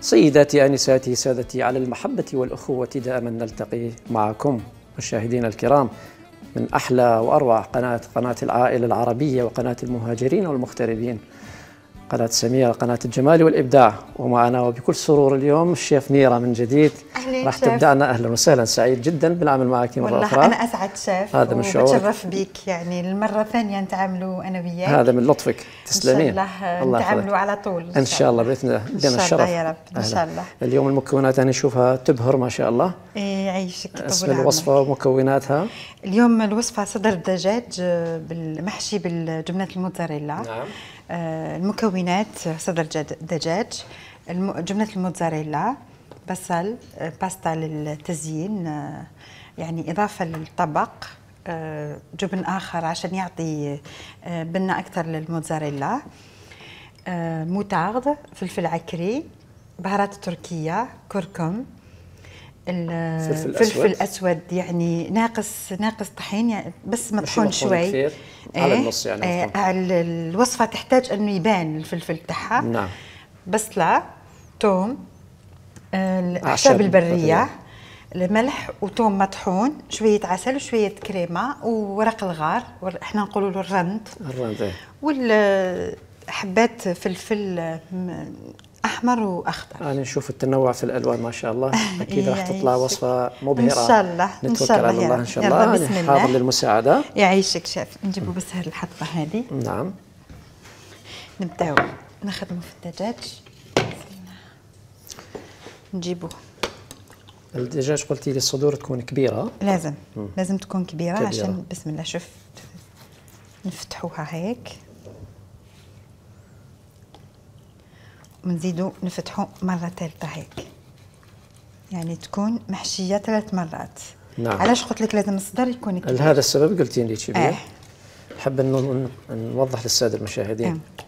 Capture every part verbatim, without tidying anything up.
سيداتي أنساتي سادتي، على المحبة والأخوة دائما نلتقي معكم مشاهدينا الكرام من أحلى وأروع قناة قناة العائلة العربية وقناة المهاجرين والمغتربين، قناة سميرة، قناة الجمال والإبداع. ومعنا وبكل سرور اليوم الشيف نيرة من جديد راح تبدأنا. أهلا وسهلا، سعيد جدا بالعمل معك مرة أخرى. والله أنا أسعد شيف، هذا من شعورك، وبتشرف بك يعني المرة الثانية نتعاملوا أنا وياك. هذا من لطفك، تسلمين. إن شاء الله نتعاملوا على طول إن شاء الله بإذن الله، لنا الشرف يا رب. إن شاء الله. اليوم المكونات أنا أشوفها تبهر ما شاء الله. إيه يعيشك. اسم الوصفة ومكوناتها؟ اليوم الوصفة صدر دجاج بالمحشي بالجبنة الموتزاريلا. نعم. آه المكونات صدر دجاج، جبنة الموتزاريلا، بصل، باستا للتزيين يعني إضافة للطبق، جبن آخر عشان يعطي بنة أكثر للموتزاريلا، موتارد، فلفل عكري، بهارات تركية، كركم، الفلفل الأسود يعني ناقص ناقص طحين يعني بس مطحون شوي كثير. على النص يعني. آه الوصفة تحتاج أنه يبان الفلفل تاعها. نعم. بصلة، توم، الأعشاب البرية، الملح وتوم مطحون، شوية عسل وشوية كريمة وورق الغار، احنا نقولوا له الرند. الرند. والحبات فلفل أحمر وأخضر. أنا نشوف التنوع في الألوان ما شاء الله، أكيد راح تطلع وصفة مبهرة إن شاء الله. نتوكل على الله إن شاء الله. بسم الله. حاضر للمساعدة. يعيشك شيف. نجيبوا بس هذه الحطبة هذه. نعم. نبداو نخدموا في الدجاج. نجيبوا الدجاج قلتي لي الصدور تكون كبيرة. لازم م. لازم تكون كبيرة, كبيرة عشان بسم الله. شوف نفتحوها هيك ونزيدوا نفتحوا مرة ثالثة هيك، يعني تكون محشية ثلاث مرات. نعم. علاش قلت لك لازم الصدر يكون كبير؟ لهذا السبب قلتي لي كبير. آه. حابة أن نوضح للسادة المشاهدين. آه.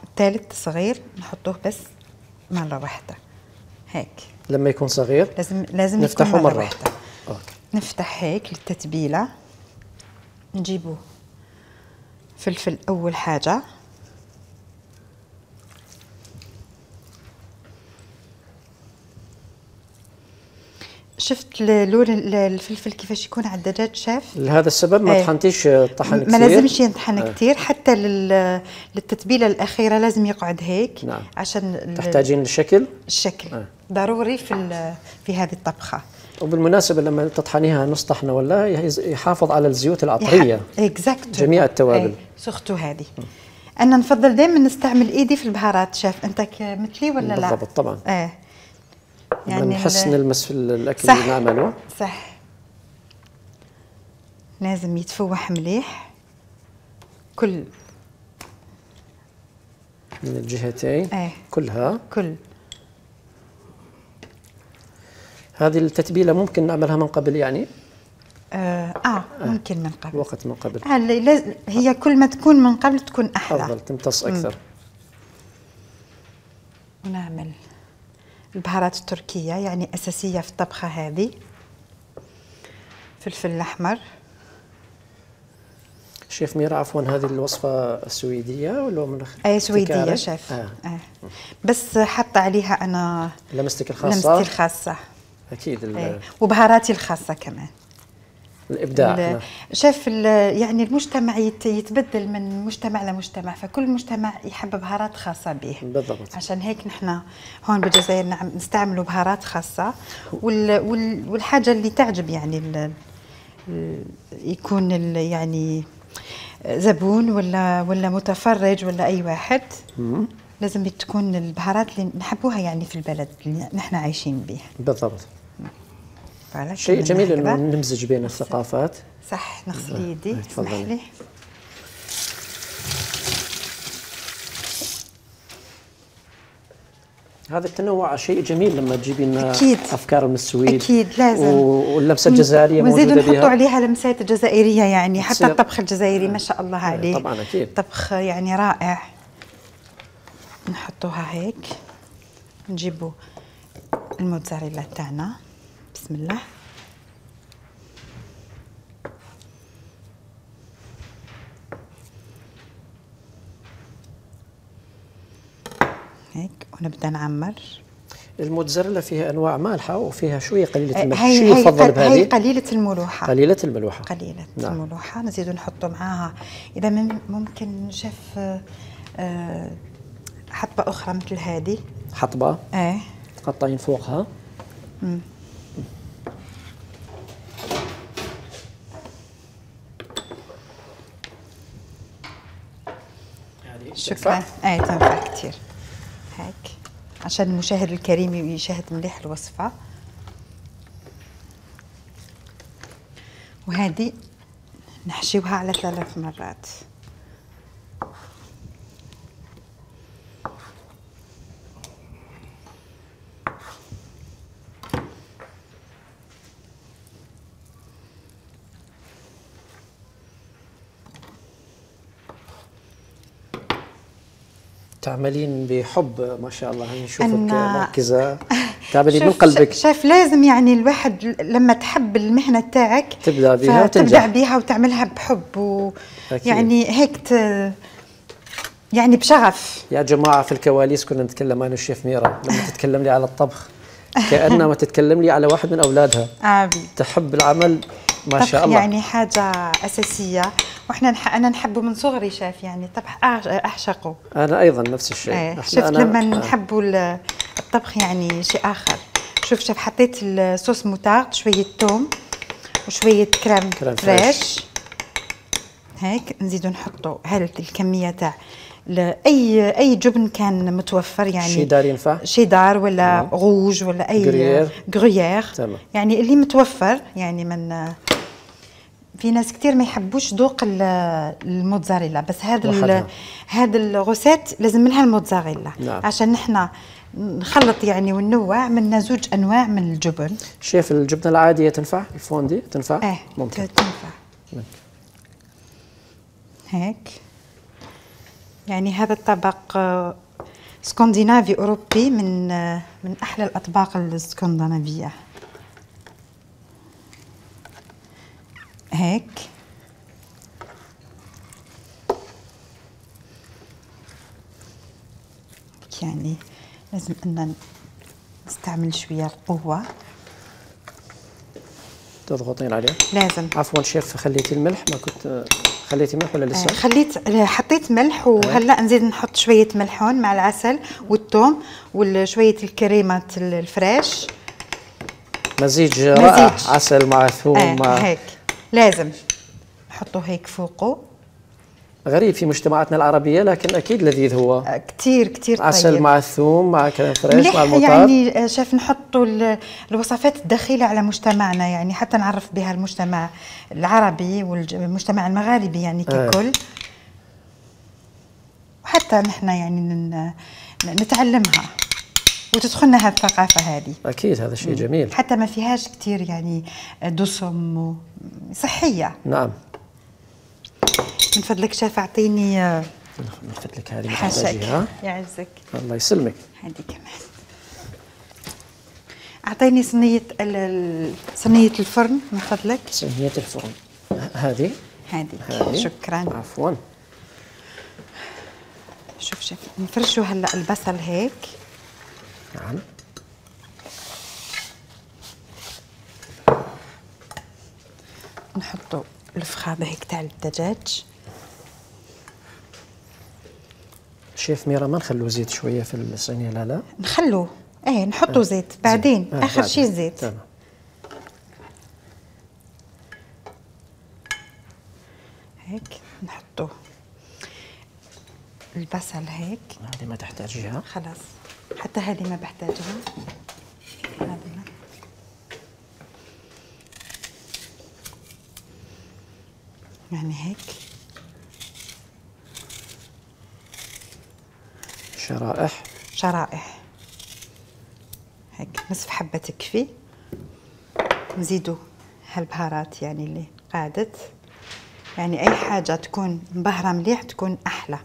الثالث صغير نحطوه بس مرة واحدة هيك. لما يكون صغير لازم لازم نفتحه يكون مرة, مرة واحدة. أوكي. نفتح هيك للتتبيلة. نجيبه فلفل أول حاجة، شفت لون الفلفل كيفاش يكون على الدجاج شاف؟ لهذا السبب ما طحنتيش طحن كثير. ما لازمش ينطحن آه. كثير، حتى للتتبيله الاخيره لازم يقعد هيك. نعم. عشان تحتاجين الشكل. الشكل آه. ضروري في في هذه الطبخه. وبالمناسبه لما تطحنيها نص طحنه ولا يحافظ على الزيوت العطريه. اكزاكت. جميع التوابل. سختو هذه. انا نفضل دائما نستعمل ايدي في البهارات شاف. انت مثلي ولا لا؟ بالضبط طبعا. اه يعني نحس نلمس في الاكل اللي نعمله. صح. لازم يتفوح مليح كل من الجهتين. آه. كلها كل. هذه التتبيله ممكن نعملها من قبل يعني؟ آه, اه ممكن من قبل. وقت من قبل. آه هي كل ما تكون من قبل تكون احلى. افضل تمتص اكثر. مم. ونعمل البهارات التركية يعني أساسية في الطبخة هذه. فلفل الأحمر. شيف ميرا عفوا هذه الوصفة سويدية ولا من أي سويدية شيف. آه. آه. بس حط عليها أنا لمستك الخاصة. لمستي الخاصة أكيد. آه. وبهاراتي الخاصة كمان. الإبداع. شاف يعني المجتمع يتبدل من مجتمع لمجتمع، فكل مجتمع يحب بهارات خاصة به. بالضبط. عشان هيك نحن هون بالجزائر نعم نستعملوا بهارات خاصة، وال والحاجة اللي تعجب يعني يكون يعني زبون ولا ولا متفرج ولا أي واحد. مم. لازم تكون البهارات اللي نحبوها يعني في البلد اللي نحن عايشين به. بالضبط. شيء جميل انه نمزج بين الثقافات. صح. نغسل يدي اسمح لي. هذا التنوع شيء جميل لما تجيبي لنا أكيد. افكار من السويد. اكيد لازم. واللمسه الجزائريه موجوده بها. ونزيدوا نحطوا عليها لمسات جزائريه يعني حتى الطبخ الجزائري ما شاء الله عليه. طبعا اكيد. طبخ يعني رائع. نحطوها هيك نجيبوا الموتزاريلا تاعنا. بسم الله. هيك ونبدا نعمر. الموتزاريلا فيها انواع مالحه وفيها شويه قليله الملح، هي شو هي يفضل بهذه؟ هي قليله الملوحه. قليله الملوحه. قليله نعم. الملوحه. نزيدوا نحطوا معاها اذا ممكن شيف أه حطبه اخرى مثل هذه. حطبه؟ ايه تقطعين فوقها. امم شكرا. ايه تنفع كثير هيك عشان المشاهد الكريم يشاهد مليح الوصفه. وهذه نحشيوها على ثلاث مرات. تعملين بحب ما شاء الله، نشوفك أنا مركزة تعملي من قلبك. شايف لازم يعني الواحد لما تحب المهنة تاعك تبدأ بها تبدأ بها وتعملها بحب ويعني هيك ت... يعني بشغف. يا جماعة في الكواليس كنا نتكلم أنا والشيف ميرا لما تتكلم لي على الطبخ كأنما تتكلم لي على واحد من أولادها. عابي. تحب العمل ما شاء الله. يعني حاجة أساسية وإحنا نح... أنا نحبه من صغري شاف يعني الطبخ أعشقه. أنا أيضا نفس الشيء. ايه شفت أنا لما نحبوا الطبخ يعني شيء آخر. شوف شوف حطيت الصوص موتارد، شوية توم وشوية كريم, كريم فريش. هيك نزيدو نحطوا هذه الكمية تاع اي اي جبن كان متوفر يعني شيدار ينفع؟ شيدار ولا غوج ولا اي غريير يعني اللي متوفر يعني. من في ناس كتير ما يحبوش ذوق الموتزاريلا بس هذا هذا الغوسيت لازم منها الموتزاريلا. نعم. عشان نحنا نخلط يعني وننوع من زوج انواع من الجبن. شيف الجبنه العاديه تنفع؟ الفوندي تنفع؟ ايه ممكن تنفع. ممكن. هيك يعني هذا الطبق اسكندنافي اوروبي من من احلى الاطباق الاسكندنافيه. هيك يعني لازم ان نستعمل شويه القوه. تضغطين عليه؟ لازم. عفوا شيف خليتي الملح، ما كنت خليتي ملح ولا لسه؟ خليت حطيت ملح وهلا نزيد نحط شويه ملح هون مع العسل والثوم وشويه الكريمه الفريش. مزيج رائع، عسل مع ثوم آه مع هيك لازم نحطه هيك فوقه. غريب في مجتمعاتنا العربية لكن أكيد لذيذ هو. آه كتير كتير طيب. عسل مع الثوم مع كريم فريش مع المطار. يعني شاف نحطوا الوصفات الدخيلة على مجتمعنا يعني حتى نعرف بها المجتمع العربي والمجتمع المغاربي يعني ككل. آه. وحتى نحن يعني نتعلمها وتدخلنا هذه الثقافة هذه. أكيد هذا شيء جميل. حتى ما فيهاش كتير يعني دسم صحية. نعم. من فضلك شاف أعطيني من فضلك هذه محتاجيها. يعزك. الله يسلمك. هذه كمان. أعطيني صينية صينية الفرن من فضلك. صينية الفرن هذه. هذه. شكرا. عفوا. شوف شوف نفرشوا هلا البصل هيك. نعم. نحطوا الفخاده هيك تاع الدجاج. شيف ميرا ما نخلو زيت شويه في الصينيه؟ لا لا نخلوه ايه نحطوا آه. زيت بعدين آه. اخر شيء زيت. تمام. هيك نحطوا البصل هيك. هذه ما تحتاجيها خلاص، حتى هذه ما بحتاجها. هذه يعني هيك شرائح شرائح هيك نصف حبة تكفي. نزيدوا هالبهارات يعني اللي قادت، يعني أي حاجة تكون مبهرة مليح تكون أحلى.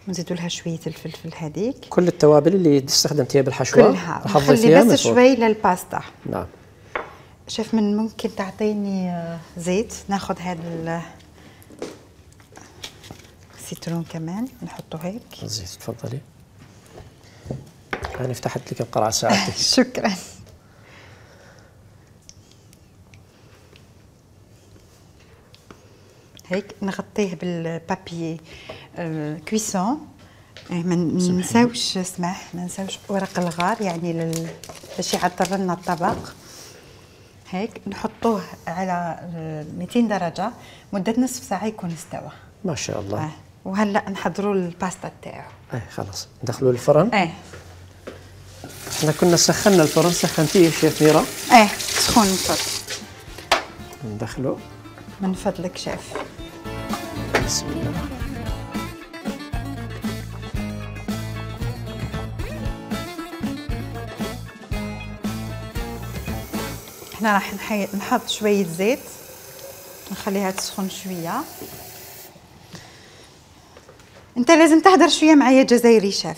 ونزيدوا لها شويه الفلفل هذيك. كل التوابل اللي استخدمتيها بالحشوه كلها نخلي بس شوي للباستا. نعم. شوف من ممكن تعطيني زيت، ناخذ هذا السيترون كمان نحطه هيك. زيت تفضلي. انا فتحت لك القرعه ساعتك. شكرا. هيك نغطيه بالبابي كويسون. ما ننساوش اسمح ما ننساوش ورق الغار يعني لل... باش يعطر لنا الطبق. هيك نحطوه على مئتين درجه مده نصف ساعه يكون استوى. ما شاء الله. آه. وهلا نحضروا الباستا تاعو. ايه خلاص ندخلوه الفرن. ايه احنا كنا سخنا الفرن. سخنتيه شيف ميرا؟ ايه سخون الفرن. ندخله من فضلك شيف. بسم الله. احنا راح نحط شويه زيت نخليها تسخن شويه. انت لازم تهدر شويه معايا جزائري شيف.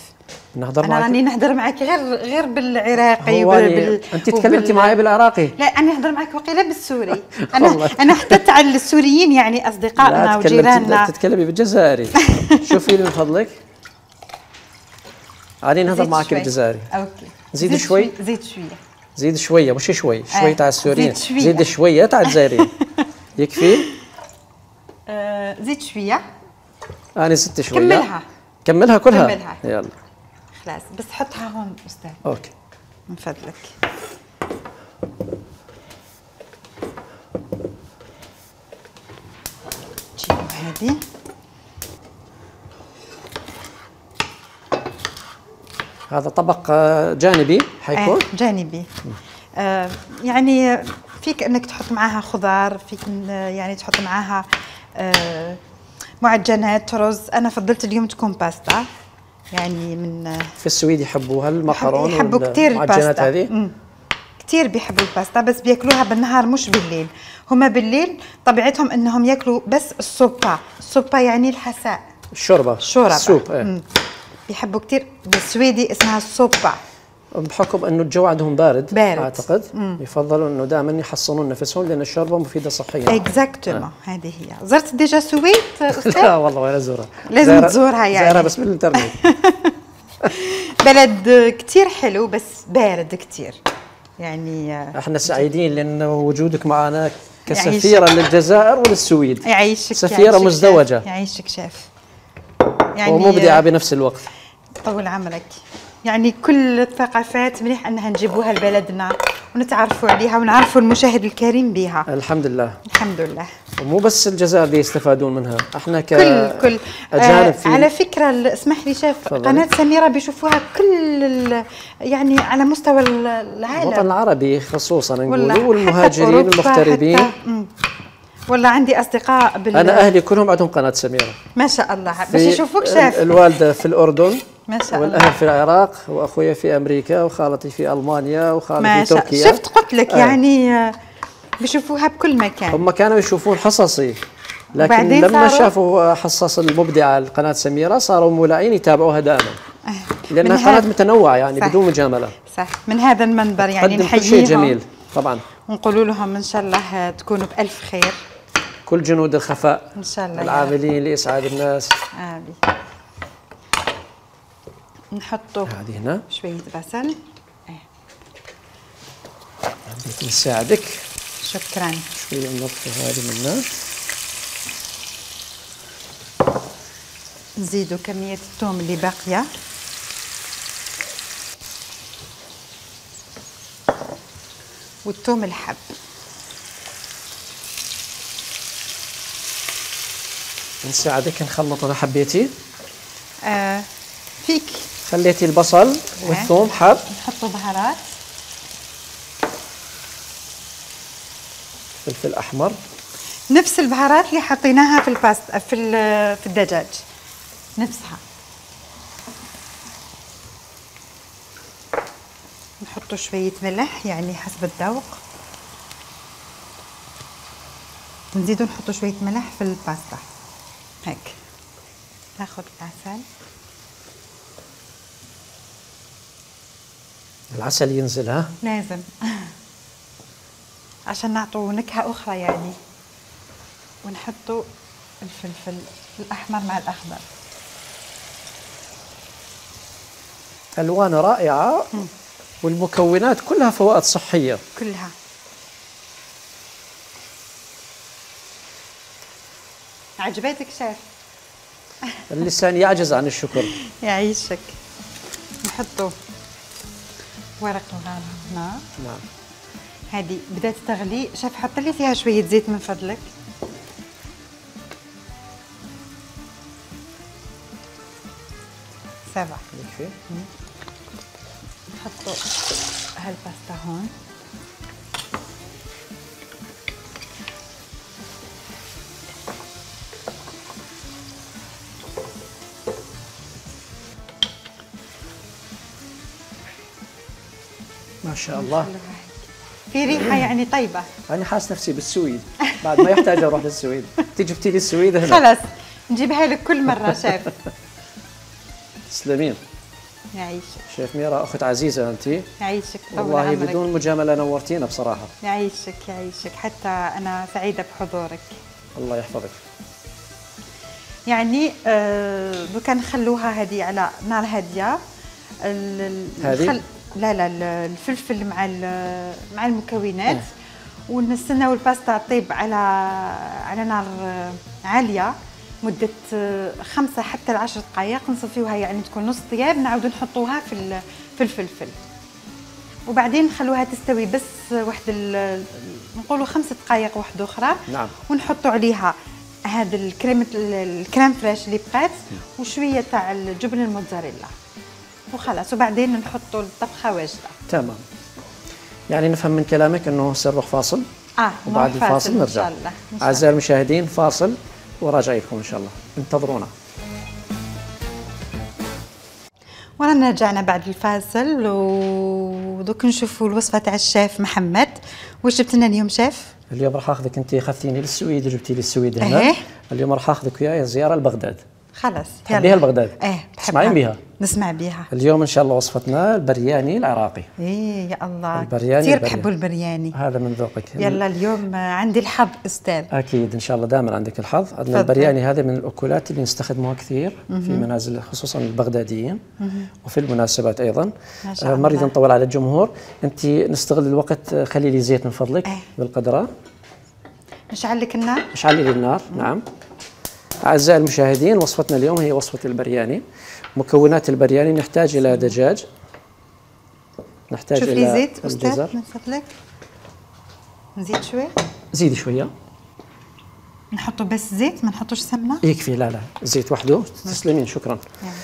نهضر انا معك. راني نهضر معك غير غير بالعراقي وبال... انت تكلمتي معي بالعراقي. لا انا نهضر معك وقيله بالسوري. انا انا حتى تاع السوريين يعني اصدقائنا وجيراننا. لا تتكلمي بالجزائري. شوفي لي من فضلك. راني نهضر معك بالجزائري. اوكي. زيد شوي. زيد شويه. زيد شويه مش شوي. شوي آه. تاع السوريين. زيد شويه. زيد شويه تاع الجزائريين. يكفي؟ آه زيد شويه. انا زدت شويه. كملها. كملها كلها. كملها. يلا. خلاص بس حطها هون استاذ. اوكي. من فضلك. جيبوا هذه. هذا طبق جانبي حيكون؟ آه جانبي. آه يعني فيك انك تحط معاها خضار، فيك يعني تحط معاها آه معجنات رز. انا فضلت اليوم تكون باستا يعني من في السويد يحبوها المقرون يحبوا كثير المعجنات هذه. كثير بيحبوا الباستا بس بياكلوها بالنهار مش بالليل. هما بالليل طبيعتهم انهم ياكلوا بس السوبا. السوبا يعني الحساء. الشوربه. الشوربه. السوب. ايه. بيحبوا كثير. بالسويدي اسمها السوبا. بحكم انه الجو عندهم بارد, بارد. اعتقد مم. يفضلوا انه دائما يحصنون نفسهم لان الشوربه مفيده صحيا. اكزاكتومون. آه. هذه هي. زرت ديجا السويد استاذ؟ لا والله ولا زورها. لازم تزورها يعني. زارها بس بالانترنت. بلد كثير حلو بس بارد كثير يعني. احنا سعيدين لان وجودك معنا كسفيره للجزائر وللسويد. يعيشك. سفيره يعيشك مزدوجه. يعيشك شيف. يعني ومبدعه بنفس الوقت. طول عمرك. يعني كل الثقافات مليح انها نجيبوها لبلدنا ونتعرفوا عليها ونعرفوا المشاهد الكريم بها. الحمد لله. الحمد لله. ومو بس الجزائر اللي يستفادون منها، احنا ك كل كل اجانب آه على فكره اسمح لي شيف، قناه سميره بيشوفوها كل يعني على مستوى العالم. الوطن العربي خصوصا نقولوا والمهاجرين المغتربين. والله عندي اصدقاء بال... انا اهلي كلهم عندهم قناه سميره. ما شاء الله. باش يشوفوك شاف. الوالده في الاردن ما شاء الله، والاهل في العراق، واخويا في امريكا، وخالتي في المانيا، وخالتي في تركيا. شفت قلت لك آه. يعني بيشوفوها بكل مكان. هم كانوا يشوفون حصصي، لكن لما شافوا حصص المبدعه لقناه سميره صاروا مولعين يتابعوها دائما. آه. لانها قناه متنوعه يعني صح. بدون مجامله. صح. من هذا المنبر يعني نحييهم. شيء جميل طبعا. ونقول لهم ان شاء الله تكونوا بالف خير. كل جنود الخفاء ان شاء الله العاملين لاسعاد الناس. آمين. نحطوا هذه هنا شويه بصل. حبيت نساعدك. شكرا. شويه نطفي هذه منها. نزيدوا كميه الثوم اللي باقيه. والثوم الحب. نساعدك نخلط اذا حبيتي. آه فيك. خليتي البصل والثوم حب. نحطوا بهارات. فلفل احمر. نفس البهارات اللي حطيناها في الباستا في في الدجاج نفسها. نحطوا شويه ملح يعني حسب الذوق. ونزيدوا نحطوا شويه ملح في الباستا هيك. ناخذ العسل. العسل ينزل ها؟ لازم عشان نعطوا نكهة أخرى يعني. ونحطوا الفلفل الأحمر مع الأخضر. ألوان رائعة والمكونات كلها فوائد صحية. كلها. عجبتك شيف؟ اللسان يعجز عن الشكر. يعيشك. نحطوا ورق الغار هنا. نعم. هذه بدات تغلي. شيف حط لي فيها شوية زيت من فضلك. سبعة. يكفي. نحطوا هالباستا هون. ما شاء الله. في ريحة يعني طيبة. أنا حاس نفسي بالسويد بعد ما يحتاج أروح للسويد. تيجي جبتي لي السويد هنا. خلاص نجيبها لك كل مرة شيف. تسلمين. يعيشك. شيف ميرا أخت عزيزة أنت. يعيشك. والله بدون مجاملة نورتينا بصراحة. يعيشك يعيشك. حتى أنا سعيدة بحضورك. الله يحفظك. يعني آه دوكا نخلوها هذه على نار هادية. هذه؟ لا لا الفلفل مع مع المكونات أه. ونستناو الباستا تطيب على على نار عاليه مده خمسة حتى لعشر دقائق. نصفيوها يعني تكون نص طياب. نعاودو نحطوها في في الفلفل وبعدين نخلوها تستوي بس واحد نقولوا خمس دقائق واحده اخرى. نعم. ونحطوا عليها هذا الكريمه الكريم فريش اللي بقات وشويه تاع الجبن الموتزاريلا وخلاص. وبعدين نحطوا الطبخه واجده. تمام. يعني نفهم من كلامك انه سنروح فاصل. اه وبعد الفاصل نرجع. ان شاء الله. اعزائي المشاهدين فاصل وراجع لكم ان شاء الله. انتظرونا. ورانا رجعنا بعد الفاصل ودوك نشوفوا الوصفه تاع الشيف محمد. واش جبت لنا اليوم شيف؟ اليوم راح اخذك، انت خذتيني للسويد وجبتي لي السويد هنا. أه. اليوم راح اخذك وياي زياره لبغداد. خلاص. تحبيها لبغداد؟ ايه تسمعين بها؟ نسمع بها. اليوم ان شاء الله وصفتنا البرياني العراقي. ايه يا الله. البرياني كثير بحبوا البرياني. هذا من ذوقك. يلا اليوم عندي الحظ استاذ. اكيد ان شاء الله دائما عندك الحظ. عندنا البرياني هذا من الاكلات اللي نستخدموها كثير في منازل خصوصا البغداديين وفي المناسبات ايضا. ما شاء الله. ما نريد نطول على الجمهور. انت نستغل الوقت. خلي لي زيت من فضلك. ايه. بالقدره. نشعل لك النار. نشعل لي النار. نعم. أعزائي المشاهدين وصفتنا اليوم هي وصفة البرياني. مكونات البرياني نحتاج إلى دجاج. نحتاج شوف إلى لي زيت أستاذ الجزر. من فضلك. نزيد شوي. زيدي شوية. نحطوا بس زيت ما نحطوش سمنة. يكفي. لا لا زيت وحده. تسلمين شكرا. يعني.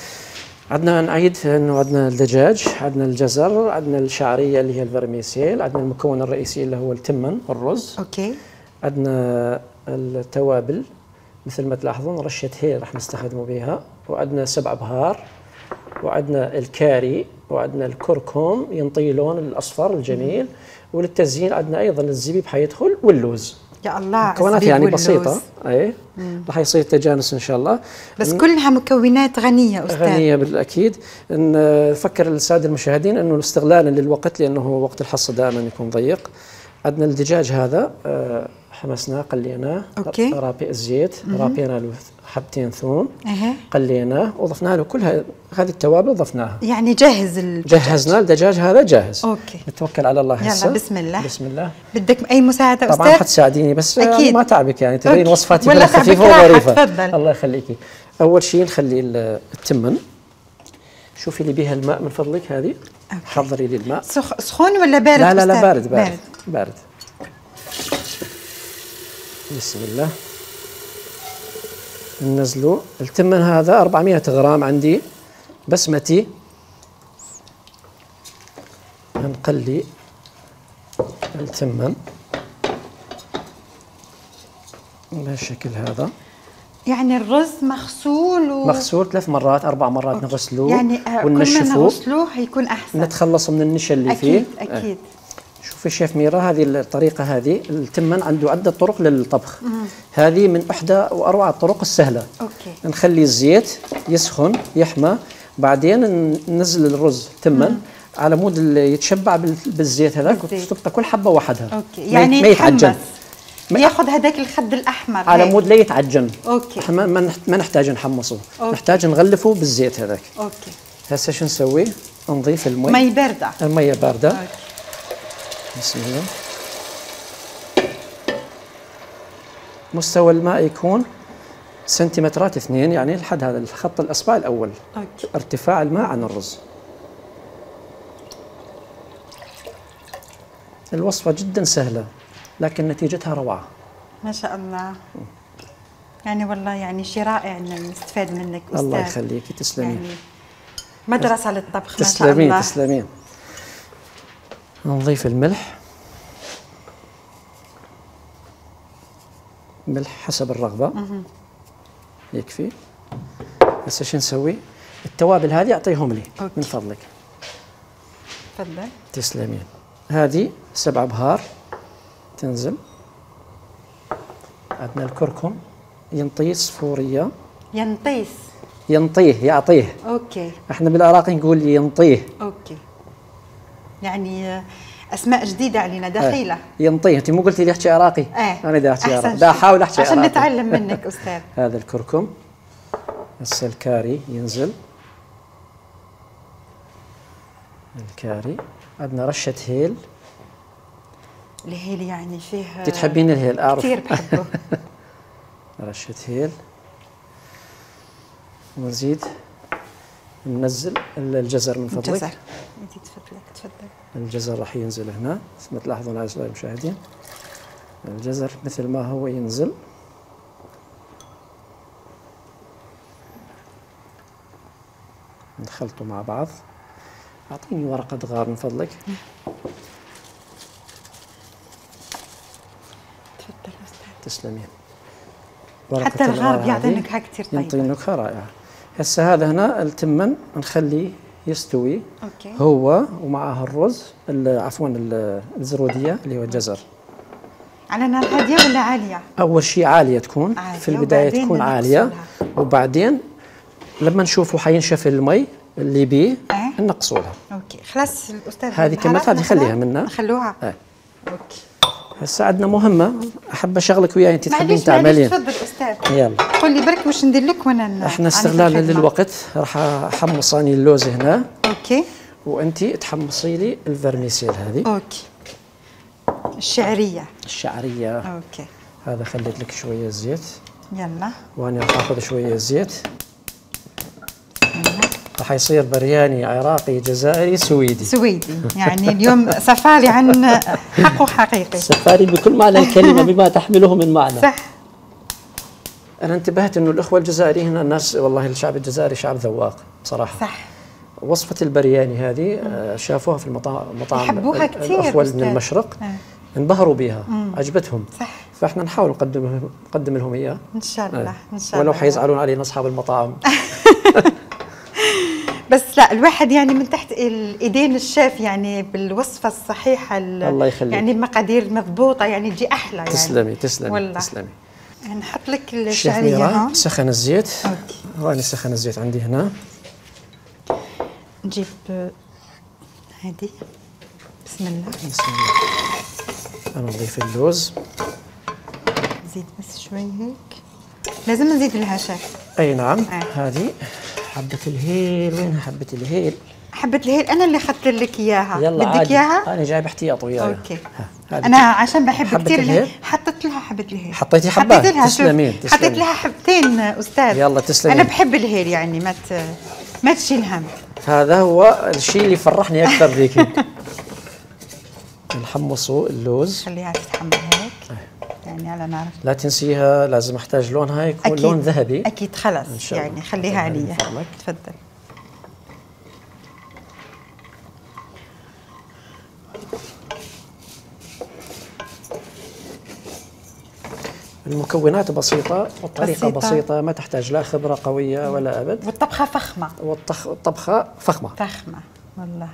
عندنا نعيد انه عندنا الدجاج، عندنا الجزر، عندنا الشعرية اللي هي الفرميسيل، عندنا المكون الرئيسي اللي هو التمن والرز. اوكي. عندنا التوابل مثل ما تلاحظون رشة هيل راح نستخدموا بها، وعندنا سبع بهار، وعندنا الكاري، وعندنا الكركم ينطي لون الأصفر الجميل، وللتزيين عندنا أيضا الزبيب حيدخل واللوز. يا الله. مكونات يعني بسيطة. أي راح يصير تجانس إن شاء الله. بس كلها مكونات غنية أستاذ. غنية بالأكيد. نفكر السادة المشاهدين أنه استغلالا للوقت لأنه وقت الحصة دائما يكون ضيق. عندنا الدجاج هذا حمسناه قليناه. اوكي. رابي الزيت، رابينا له حبتين ثوم. اها. قليناه وضفنا له كل هذه التوابل ضفناها. يعني جاهز الدجاج. جهزنا الدجاج هذا جاهز. اوكي. نتوكل على الله هسه. يلا بسم الله. بسم الله. بدك اي مساعدة أستاذ؟ طبعا حتساعديني بس أكيد. ما تعبك يعني تبين وصفاتي ولا خفيفة وظريفة. تفضل. الله يخليكي. أول شيء نخلي التمن. شوفي لي بها الماء من فضلك هذه. أوكي. حضري لي الماء. سخ... سخون ولا بارد؟ لا لا لا بارد بارد. بارد, بارد. بسم الله. ننزلوا التمن هذا أربعمئة غرام عندي بسمتي. نقلي التمن بالشكل هذا. يعني الرز مغسول و... مغسول ثلاث مرات أربع مرات. أوكي. نغسلوه يعني وننشفوه. كل ما نغسلوه هيكون أحسن. نتخلص من النشا اللي أكيد فيه. أكيد. شوفي شيف ميرا، هذه الطريقة هذه التمن عنده عدة طرق للطبخ. هذه من إحدى وأروع الطرق السهلة. أوكي. نخلي الزيت يسخن يحمى، بعدين ننزل الرز تمن على مود يتشبع بالزيت هذاك، وتبقى كل حبة وحدها. أوكي. يعني ما يتعجن، ياخذ هذاك الخد الأحمر على مود لا يتعجن. أوكي. احنا ما نحتاج نحمصه، نحتاج نغلفه بالزيت هذاك. أوكي. هسه شو نسوي؟ نضيف المي. مي باردة. المية باردة. أوكي. بسم الله. مستوى الماء يكون سنتيمترات اثنين، يعني لحد هذا الخط الأصبع الأول. أوكي. ارتفاع الماء عن الرز. الوصفة جدا سهلة لكن نتيجتها روعة. ما شاء الله. يعني والله يعني شيء رائع ان نستفاد منك استاذ. الله يخليكي، تسلمين. يعني مدرسة للطبخ. ما شاء تسلمين الله. تسلمين. نضيف الملح. ملح حسب الرغبة. مه. يكفي. هسه شو نسوي؟ التوابل هذه اعطيهم لي. أوكي. من فضلك. تفضل. تسلمين. هذه سبع بهار تنزل. عندنا الكركم ينطيس فورية. ينطيس. ينطيه يعطيه. اوكي. احنا بالعراقي نقول ينطيه. اوكي. يعني اسماء جديده علينا دخيله. اه. ينطيه، انت مو قلتي لي احكي عراقي؟ ايه. انا دا احكي عراقي، دا احاول احكي عشان عراقي عشان نتعلم منك استاذ. هذا الكركم. هسه الكاري ينزل. الكاري. عندنا رشة هيل. الهيل يعني فيه. تحبين الهيل اعرف. كثير بحبه. رشة هيل. ونزيد ننزل الجزر من فضلك. الجزر. انت تفضلك تفضل. الجزر راح ينزل هنا مثل ما تلاحظون اعزائي المشاهدين. الجزر مثل ما هو ينزل. نخلطه مع بعض. اعطيني ورقة غار من فضلك. تفضل استاذ. تسلمين. حتى الغار بيعطي نكهة كثير طيبة. يعطي نكهة رائعة. هسه هذا هنا التمن نخليه يستوي. اوكي. هو ومعه الرز عفوا الزرودية اللي هو الجزر. على نار هادية ولا عالية؟ أول شيء عالية تكون. عالية. في البداية تكون عالية، وبعدين لما نشوفوا حينشف المي اللي بيه اه؟ نقصوا لها. اوكي خلاص الاستاذ. هذه كمان هذه خليها منا. نخلوها. اه. اوكي. هسه عندنا مهمة أحب أشغلك وياي أنت تحبين تعملين. تعملين. تفضل أستاذ. يلا. قول لي برك وش ندير لك وأنا. احنا استغلالا للوقت راح أحمص أني اللوز هنا. أوكي. وأنت تحمصي لي الفرميسيل هذه. أوكي. الشعرية. الشعرية. أوكي. هذا خليت لك شوية زيت. يلا. وأنا راح آخذ شوية زيت. راح يصير برياني عراقي جزائري سويدي. سويدي، يعني اليوم سفاري عن حق حقيقي. سفاري بكل معنى الكلمة بما تحمله من معنى. صح. أنا انتبهت إنه الأخوة الجزائريين الناس والله الشعب الجزائري شعب ذواق بصراحة. صح. وصفة البرياني هذه شافوها في المطاعم يحبوها كثير. الأخوة من المشرق اه. انبهروا بها. مم. عجبتهم. صح. فاحنا نحاول نقدم نقدم لهم إياه. إن شاء الله. اه. إن شاء الله. ولو حيزعلون علينا أصحاب المطاعم. بس لا الواحد يعني من تحت الايدين الشيف يعني بالوصفه الصحيحه. الله يخليك. يعني المقادير المضبوطه يعني تجي احلى يعني. تسلمي تسلمي والله. تسلمي. نحط لك الشعريه هون. سخن الزيت. اوكي. وأنا سخن الزيت عندي هنا. نجيب هذه. بسم الله. بسم الله. أنا نضيف اللوز. نزيد بس شوي هيك. لازم نزيد لها شيف. أي نعم. آه. هذه حبة الهيل. وينها حبة الهيل؟ حبة الهيل أنا اللي أخذت لك إياها. يلا بدك إياها؟ أنا جايب احتياط وياي. أوكي. أنا عشان بحب كثير الهيل حطيت لها حبة الهيل. حطيتي حبة؟ حطيت لها. تسلمين تسلمين. حطيت لها حبتين أستاذ. يلا تسلمين. أنا بحب الهيل يعني ما ت... ما تشيل هم. هذا هو الشيء اللي فرحني أكثر فيكي. نحمصوا اللوز. خليها تتحمر هيك. يعني على نار. لا تنسيها لازم احتاج لونها يكون أكيد. لون ذهبي. أكيد خلاص يعني خليها عليا. تفضل. المكونات بسيطة والطريقة بسيطة. بسيطة ما تحتاج لا خبرة قوية ولا أبد. والطبخة فخمة. والطبخة فخمة. فخمة والله.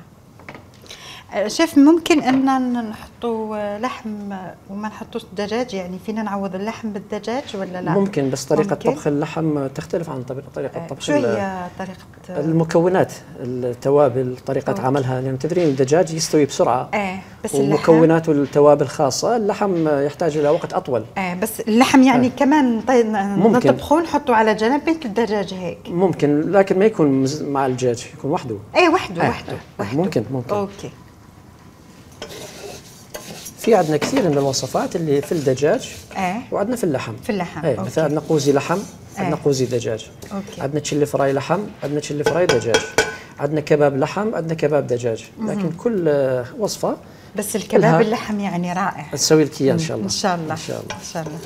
شيف ممكن ان نحطوا لحم وما نحطوش دجاج، يعني فينا نعوض اللحم بالدجاج ولا لا؟ ممكن، بس طريقة ممكن. طبخ اللحم تختلف عن طريقة طبخ. شو هي طريقة المكونات، التوابل، طريقة أوكي. عملها، لأن يعني تدرين الدجاج يستوي بسرعة. ايه بس ومكونات والتوابل خاصة، اللحم يحتاج إلى وقت أطول. ايه بس اللحم يعني آه. كمان طيب نطبخوه نحطه على جنب مثل الدجاج هيك. ممكن، لكن ما يكون مع الدجاج، يكون وحده. ايه وحده آه. وحده. آه. ممكن ممكن. اوكي. في عندنا كثير من الوصفات اللي في الدجاج ايه وعندنا في اللحم. في اللحم ايه مثلا عندنا قوزي لحم، عندنا ايه. قوزي دجاج. اوكي. عندنا تشيلي فراي لحم، عندنا تشيلي فراي دجاج. عندنا كباب لحم، عندنا كباب دجاج. لكن كل وصفه بس الكباب اللحم يعني رائع. تسوي لك اياه ان شاء الله. ان شاء الله ان شاء الله ان شاء الله.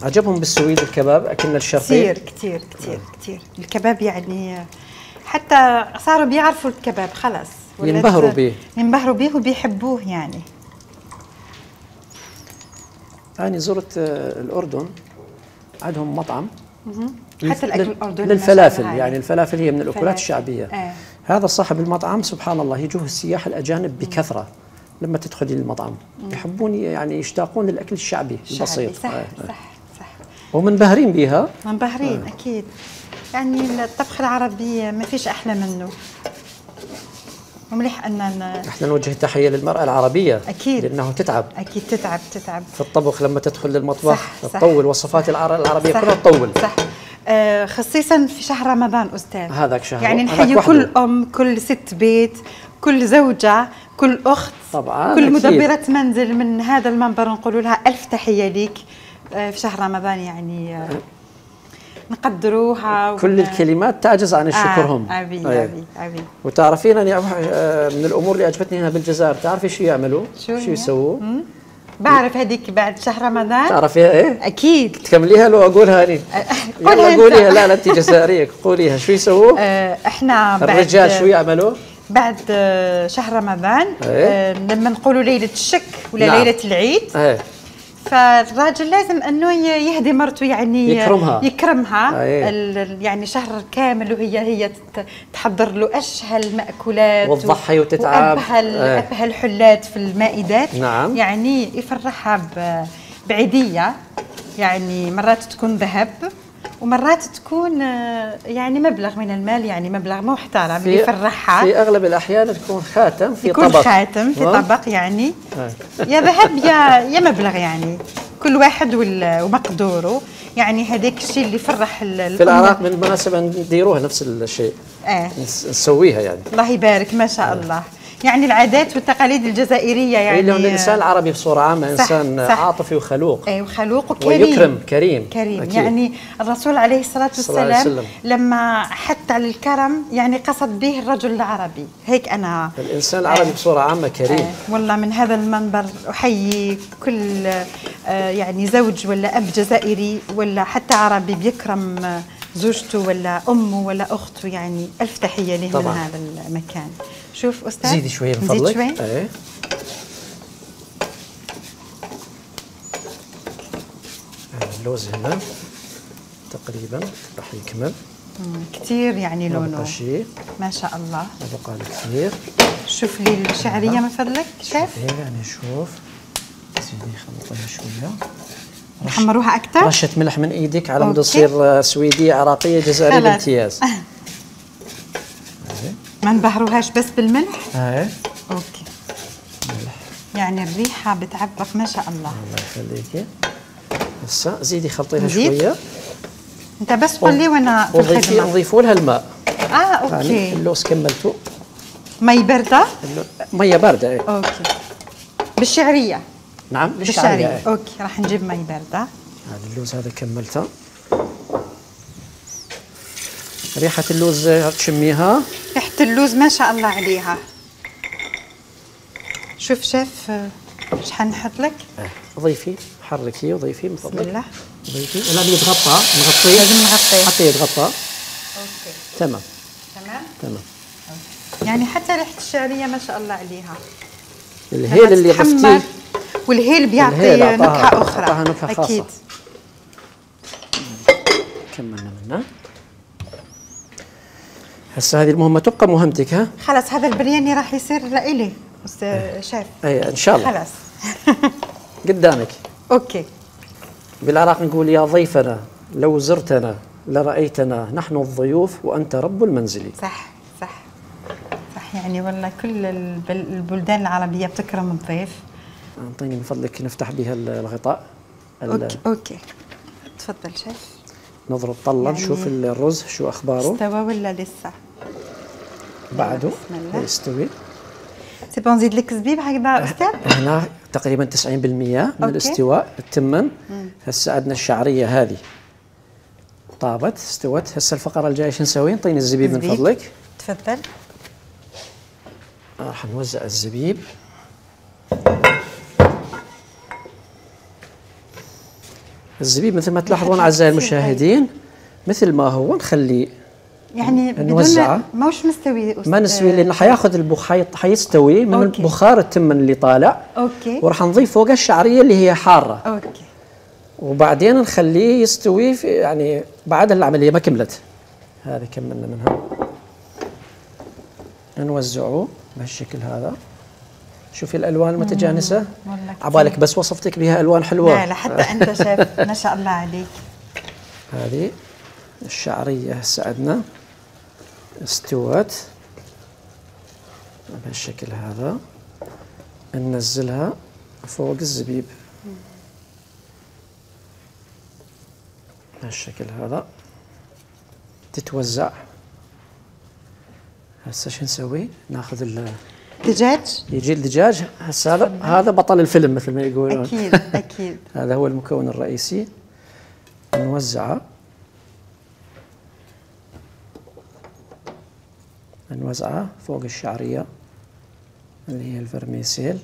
عجبهم بالسويد الكباب اكلنا الشرقي. كثير كثير كثير كثير الكباب يعني حتى صاروا بيعرفوا الكباب خلص، ينبهروا به ينبهروا به وبيحبوه يعني. أنا زرت الأردن، عندهم مطعم حتى الأكل الأردني للفلافل، يعني الفلافل هي من الأكلات الشعبية. آه. هذا صاحب المطعم سبحان الله يجوه السياح الأجانب بكثرة. لما تدخلي المطعم يحبون يعني يشتاقون للأكل الشعبي البسيط. صح آه. صح صح. ومنبهرين بها. منبهرين آه. أكيد، يعني الطبخ العربي ما فيش أحلى منه. ومليح أننا احنا نوجه تحية للمرأة العربية أكيد، لأنه تتعب أكيد تتعب تتعب في الطبخ. لما تدخل للمطبخ تطول وصفات العربية كلها تطول. صح آه خصيصا في شهر رمضان أستاذ. هذاك شهر يعني نحيي كل أم، كل ست بيت، كل زوجة، كل أخت طبعا، كل مدبرة منزل من هذا المنبر نقول لها ألف تحية ليك آه في شهر رمضان. يعني آه نقدروها. كل الكلمات تعجز عن الشكرهم. آه أبي أبي أبي, أبي. وتعرفين أني من الأمور اللي عجبتني هنا بالجزائر، تعرفي شو يعملوا؟ شو, شو يسووا؟ بعرف هذيك بعد شهر رمضان. تعرفيها إيه؟ أكيد. تكمليها لو أقولها أني؟ قولها قوليها. لا لا أنت جزائرية، قوليها. شو يسووا؟ آه إحنا بعد الرجال شو يعملوا؟ بعد شهر رمضان إيه؟ آه لما نقولوا ليلة الشك ولا نعم. ليلة العيد. إيه؟ فالراجل لازم انه يهدي مرته، يعني يكرمها يكرمها يعني شهر كامل، وهي هي تحضر له اشهى المأكولات وتضحي وتتعب وابهى ابهى الحلات في المائدات. نعم. يعني يفرحها بعيدية، يعني مرات تكون ذهب ومرات تكون يعني مبلغ من المال، يعني مبلغ محترم اللي يفرحها. في اغلب الاحيان تكون خاتم في يكون طبق، خاتم في طبق يعني يا ذهب يا يا مبلغ، يعني كل واحد ومقدوره. يعني هذاك الشيء اللي يفرح في العراق. بالمناسبة نديروها نفس الشيء. اه نسويها يعني. الله يبارك ما شاء الله. يعني العادات والتقاليد الجزائرية يعني لأن الإنسان العربي بصورة عامة صح إنسان صح عاطفي وخلوق. أي وخلوق وكريم ويكرم كريم كريم أكيد. يعني الرسول عليه الصلاة والسلام لما حث على الكرم يعني قصد به الرجل العربي. هيك أنا الإنسان العربي آه بصورة عامة كريم. آه والله من هذا المنبر أحيي كل آه يعني زوج ولا أب جزائري ولا حتى عربي بيكرم زوجته ولا أمه ولا أخته. يعني ألف تحية له من هذا المكان. شوف أستاذ زيدي شوية من فضلك. شوي. ايه اللوز هنا تقريبا راح يكمل كثير، يعني لونه شيء ما شاء الله. بقى كثير. شوف لي الشعرية من فضلك شيف. يعني شوف زيدي خلطيها شوية، نحمروها أكثر. رشة ملح من إيدك على مود تصير سويدية عراقية جزائرية بامتياز. ما نبهروهاش بس بالملح. ايه اوكي. ملح يعني الريحه بتعبق ما شاء الله. الله يخليكي. هسه زيدي خلطيها شويه. انت بس قول لي وانا في الخدمه. نضيفوا لها الماء. اه اوكي. يعني اللوز كملته. مي بارده؟ ميه بارده ايه. اوكي. بالشعريه. نعم بالشعريه. ايه. اوكي راح نجيب مي بارده. هذا اللوز هذا كملته. ريحة اللوز تشميها؟ ريحة اللوز ما شاء الله عليها. شوف شيف شحال نحط لك؟ اه ضيفي حركي وضيفي من فضلك. بسم الله. ضيفي لا يتغطى نغطيه. لازم نغطيه. حتى يتغطى. اوكي. تمام. تمام؟ تمام. أوكي. يعني حتى ريحة الشعرية ما شاء الله عليها. الهيل اللي ضفتيه والهيل بيعطي نكهة أخرى. أعطاها نكهة خاصة. أكيد. كملنا منه. هسه هذه المهمة تبقى مهمتك. ها خلاص هذا البرياني راح يصير لإلي أستاذ شيف. اي ان شاء الله. خلاص قدامك. اوكي. بالعراق نقول يا ضيفنا لو زرتنا لرأيتنا نحن الضيوف وأنت رب المنزل. صح صح صح، يعني والله كل البلدان العربية بتكرم الضيف. أعطيني من فضلك نفتح بها الغطاء. أوكي أوكي تفضل شيف. نضرب طلة يعني نشوف الرز شو أخباره. استوى ولا لسه؟ بعده يستوي. سي بون نزيد لك زبيب هكذا أستاذ؟ هنا تقريبا تسعين بالمئة من أوكي. الاستواء التمن. هسه عندنا الشعرية هذه طابت استوت. هسه الفقرة الجاية شو نسوي؟ نعطيني الزبيب من فضلك. تفضل. راح نوزع الزبيب. الزبيب مثل ما تلاحظون أعزائي المشاهدين مثل ما هو نخليه يعني نوزعه. ماهوش مستوي ما نسوي لأنه حياخذ البخار حيستوي من أوكي. بخار التمن اللي طالع. اوكي. وراح نضيف فوقه الشعرية اللي هي حارة. اوكي. وبعدين نخليه يستوي في يعني بعد العملية ما كملت. هذه كملنا منها. نوزعه بهالشكل هذا. شوفي الالوان المتجانسه. عبالك بس وصفتك بها الوان حلوه. لا لا حتى انت شايف ما شاء الله عليك. هذه الشعريه هسه عندنا استوت بهالشكل هذا. ننزلها فوق الزبيب بهالشكل هذا تتوزع. هسه شو نسوي؟ ناخذ دجاج. يجي الدجاج هسه هذا هذا بطل الفيلم مثل ما يقولون. اكيد اكيد. هذا هو المكون الرئيسي. نوزعه نوزعه فوق الشعريه اللي هي الفرميسيل.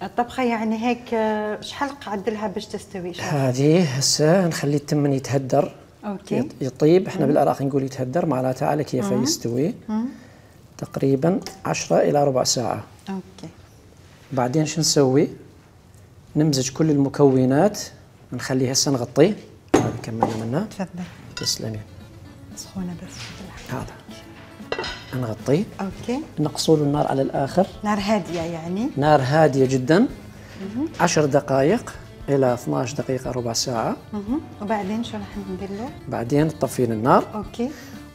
الطبخه يعني هيك شحال قعد لها باش تستوي؟ هذه هسه نخلي التمن يتهدر. اوكي. يطيب. احنا بالعراق نقول يتهدر معناتها على كيف يستوي. مم. تقريبا عشرة إلى ربع ساعة. اوكي. بعدين شو نسوي؟ نمزج كل المكونات نخليه هسه نغطيه. هذا كملنا منه. تفضل. تسلمي. سخونة بس. هذا نغطيه. اوكي. نقصوا له النار على الآخر. نار هادية يعني؟ نار هادية جدا. مه. عشر دقائق إلى اثنعش دقيقة ربع ساعة. مه. وبعدين شو راح ندير له؟ بعدين تطفين النار. اوكي.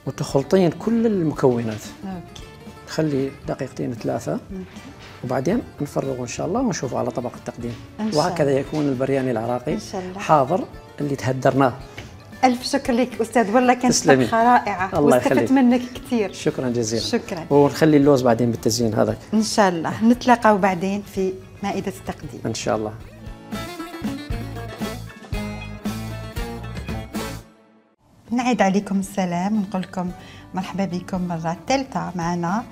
وتخلطين كل المكونات. اوكي. خلي دقيقتين ثلاثة. مم. وبعدين نفرغه إن شاء الله ونشوفه على طبق التقديم. وهكذا يكون البرياني العراقي إن شاء الله. حاضر اللي تهدرناه. ألف شكر لك أستاذ، والله كانت طبخة رائعة واستفدت منك كثير. شكرا جزيلا. شكرا. ونخلي اللوز بعدين بالتزيين هذاك. إن شاء الله نتلاقى بعدين في مائدة التقديم. إن شاء الله. نعيد عليكم السلام ونقول لكم مرحبا بكم مرة ثالثة معنا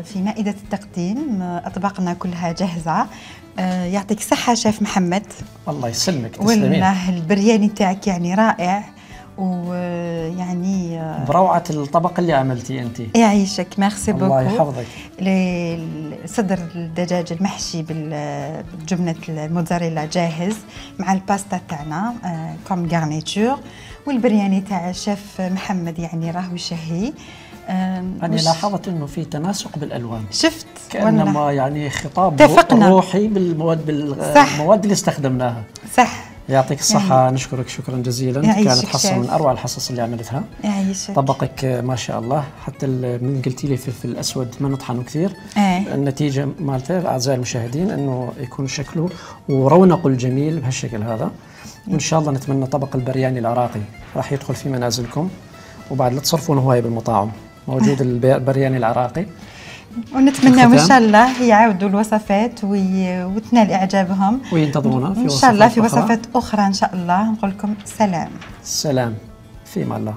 في مائدة التقديم. أطباقنا كلها جاهزة. يعطيك الصحة شيف محمد. الله يسلمك. تسلمين. والله البرياني تاعك يعني رائع ويعني بروعة الطبق اللي عملتيه أنت. يعيشك. ميرسي بوكو. الله يحفظك. صدر الدجاج المحشي بالجبنة الموتزاريلا جاهز مع الباستا تاعنا كوم غارنيتور. والبرياني تاع الشيف محمد يعني راهو شهي. أنا لاحظت إنه في تناسق بالألوان. شفت؟ كأنما يعني خطاب تفقنا. روحي بالمواد بالمواد اللي استخدمناها. صح. يعطيك الصحة. يعني نشكرك شكرا جزيلا. كانت حصة من أروع الحصص اللي عملتها. يعيشك. طبقك ما شاء الله. حتى من قلتي لي فلفل الأسود ما نطحنه كثير. ايه. النتيجة مالته أعزائي المشاهدين إنه يكون شكله ورونقه الجميل بهالشكل هذا. وإن شاء الله نتمنى طبق البرياني العراقي راح يدخل في منازلكم. وبعد لا تصرفون هواية بالمطاعم موجود البرياني العراقي. ونتمنى ان شاء الله يعودوا الوصفات وتنال اعجابهم وينتظرونا في ان شاء الله في وصفات اخرى ان شاء الله. نقول لكم سلام. سلام في مع الله.